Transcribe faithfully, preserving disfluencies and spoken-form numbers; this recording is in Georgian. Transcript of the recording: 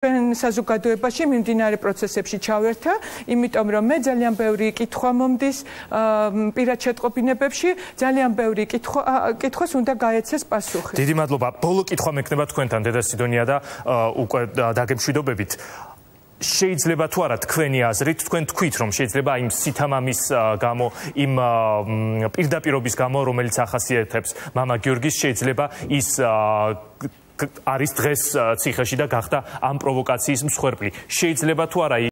საზოგადოებაში მიმდინარე პროცესებში ჩავერთა, იმიტომ რომ მე ძალიან ბევრი კითხვა მომდის პირად შეტყობინებებში, ძალიან ბევრი კითხვას უნდა გაეცეს პასუხი. დიდი მადლობა. ბოლო კითხვა მექნება თქვენთან, დედა სიდონია და უკვე დაგემშვიდობებით. შეიძლება თუ არა თქვენი აზრით, თქვენ თქვით, რომ შეიძლება იმ სითამამის გამო, იმ პირდაპირობის გამო, რომელიც ახასიათებს მამა გიორგის, შეიძლება ის არის დღეს ციხეში და გახდა ამ პროვოკაციის მსხვერპლი. შეიძლება თუ არა